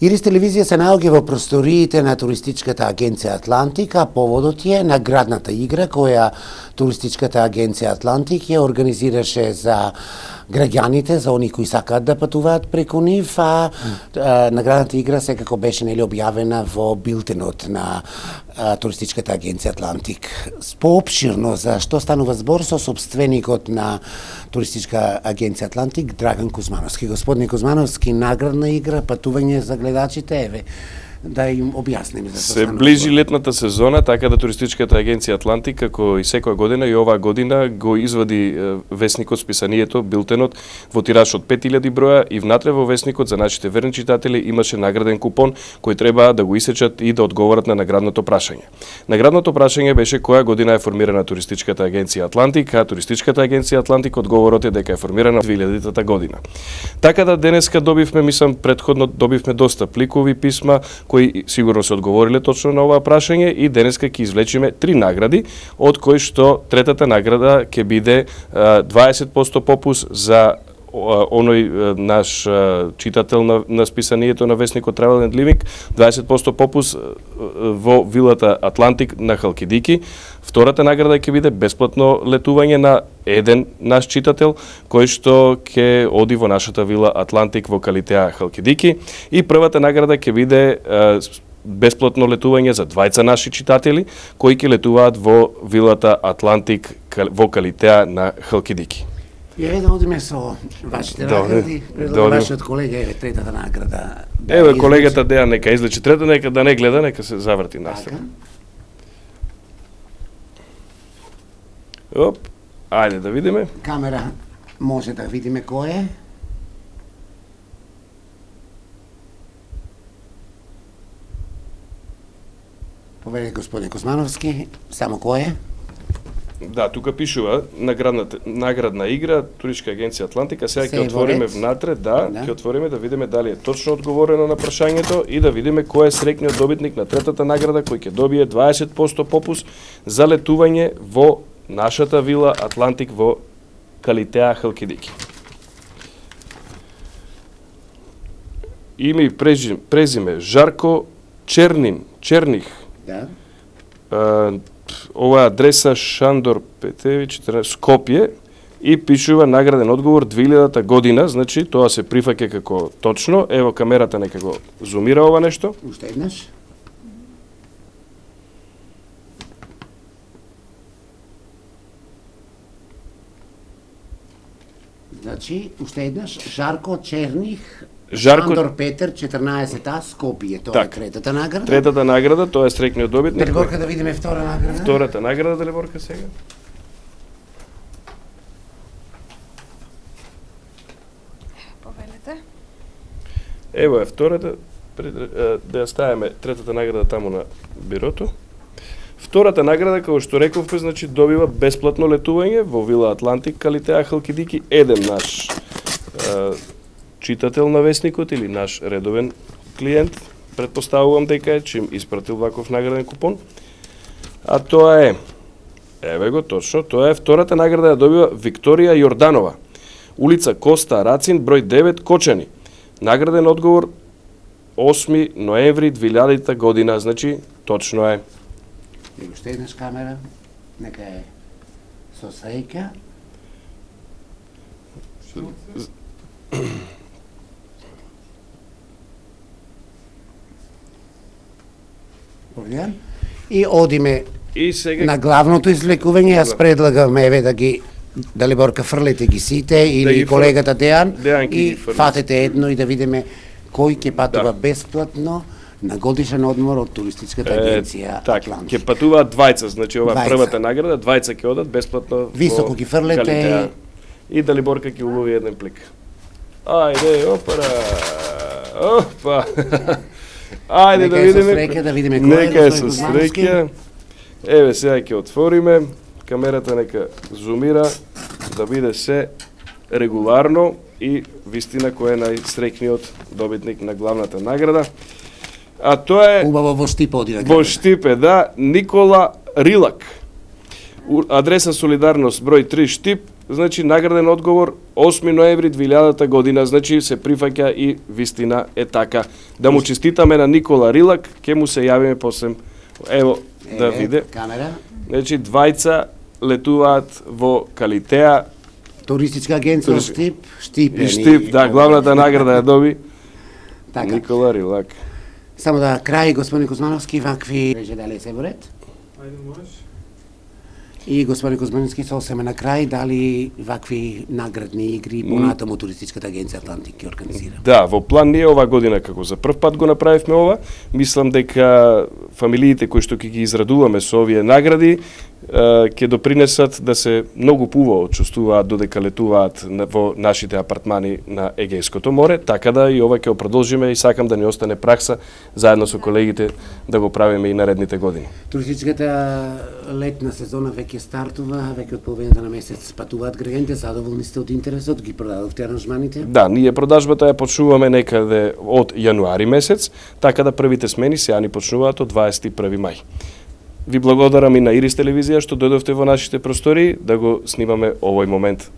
Ирис телевизија се наоѓа во просториите на туристичката агенција Атлантик, а поводот е наградната игра која туристичката агенција Атлантик ја организираше за граѓаните, за они кои сакаат да патуваат преку нив, а наградната игра секако беше објавена во билтенот на туристичката агенција Атлантик. Поопширно за што станува збор со сопственикот на туристичка агенција Атлантик Драган Кузмановски. Господине Кузмановски, наградна игра, патување за гледачите, еве, да им објасниме за се ближи летната сезона, така да туристичката агенција Атлантик, како и секоја година и оваа година, го извади весникот, списанието, билтенот во тираж од 5000 броја и внатре во весникот за нашите верни читатели имаше награден купон кој треба да го исечат и да одговорат на наградното прашање. Наградното прашање беше која година е формирана туристичката агенција Атлантик, а туристичката агенција Атлантик одговорот е дека е формирана 2000 година. Така да денеска добивме, мислам, претходно добивме доста пликови писма кои сигурно се одговориле точно на оваа прашање и денеска ќе извлечиме 3 награди, од кои што третата награда ќе биде 20% попус за оној наш читател на списанието на весникот Travel and Living, 20% попус во вилата Атлантик на Халкидики. Втората награда ќе биде бесплатно летување на еден наш читател кој што ќе оди во нашата вила Атлантик во Калитеа Халкидики, и првата награда ќе биде бесплатно летување за двајца наши читатели кои ќе летуваат во вилата Атлантик во Калитеа на Халкидики. Еве да одиме со вашите награди, вашиот колега, еве третата награда. Еве колегата Дејан нека излечи трета, нека да не гледа, нека се заврти настрана. Оп, ајде да видиме. Камера може да видиме кој е. Поведе господин Кузмановски, само кој е? Да, тука пишува наградна игра, туристичка агенција Атлантика. Сега ќе отвориме внатре, ќе отвориме да видиме дали е точно одговорено на прашањето и да видиме кој е среќниот добитник на третата награда кој ќе добие 20% попус за летување во нашата вила Атлантик во Калитеа Халкидики. Име и презиме Жарко Черних. Да. Ова адреса Шандор Петевич, Скопје, и пишува награден одговор 2000 година, значи тоа се прифаќа како точно. Ево камерата нека го зумира ова нешто. Уште еднаш. Значи, уште еднаш, Жарко Черних, Шандор Петер, 14А, Скопје, тоа е третата награда. Третата награда, тоа е среќниот добитник. Далиборка да видиме втора награда. Втората награда, Далиборка сега. Повелете. Ево е втората, да ја ставиме третата награда таму на бирото. Втората награда, како што рековме, значи добива бесплатно летување во вила Атлантик, Калитеа Халкидики, еден наш читател на весникот или наш редовен клиент, предпоставувам дека е, чим испратил ваков награден купон. А тоа е, еве го точно, тоа е втората награда ја добива Викторија Јорданова, улица Коста Рацин, број 9, Кочани. Награден одговор 8 ноември 2000 година, значи точно е. И уште еднаш камера, нека е со среќа. И одиме на главното извлекување. Јас предлагам еве да ги Далиборка фрлете ги сите или колегата Дејан и фатете едно и да видиме кој ќе патува бесплатно на годишен одмор од туристичката агенција Атлантик. Ќе патуваат двајца, значи ова првата награда, двајца ќе одат бесплатно. Високо ги фрлете и Далиборка ќе улови еден плик. Ајде, опа. Ајде да видиме кој е. Нека е со среќа. Еве сега ќе отвориме. Камерата нека зумира да биде се регуларно и вистина кој е најсреќниот добитник на главната награда. А тоа е убаво во Штип оди да во Штипе, да, Никола Рилак. Адреса Солидарност број 3 Штип, значи награден одговор 8 ноември 2000 година, значи се прифаќа и вистина е така. Да му честитаме на Никола Рилак, ќе му се јавиме после. Ево, да виде. Камера. Значи двајца летуваат во Калитеа. Туристичка агенција Штип. И Штип, да, главната награда ја доби. Така. Никола Рилак. Само да крај, господин Кузмановски, вакви рече дали се борет? Ајде можеш. И господин Кузмановски, сосеме на крај, дали вакви наградни игри понатаму туристичката агенција Атлантик ќе организира? Да, во план ние ова година како за прв пат го направивме ова. Мислам дека фамилиите кои што ќе ги израдуваме со овие награди ќе допринесат да се многу поубаво чувствуваат додека летуваат во нашите апартмани на Егејското море, така да и ова ќе го продолжиме и сакам да ни остане пракса заедно со колегите да го правиме и наредните години. Туристичката летна сезона веќе стартува, веќе од половината на месец патуваат граѓаните, задоволни сте од интересот, ги продадовте аранжманите? Да, ние продажбата ја почнуваме некаде од јануари месец, така да првите смени сега ни почнуваат од 21 мај. Ви благодарам и на Ирис телевизија што дојдовте во нашите простори да го снимаме овој момент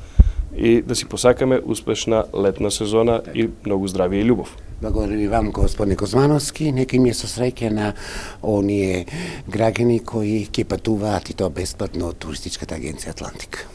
и да си посакаме успешна летна сезона и многу здравје и љубов. Благодарам и вам, господин Кузмановски. Нека им е со среќа на оние граѓани кои ќе патуваат и тоа бесплатно од туристичката агенција Атлантик.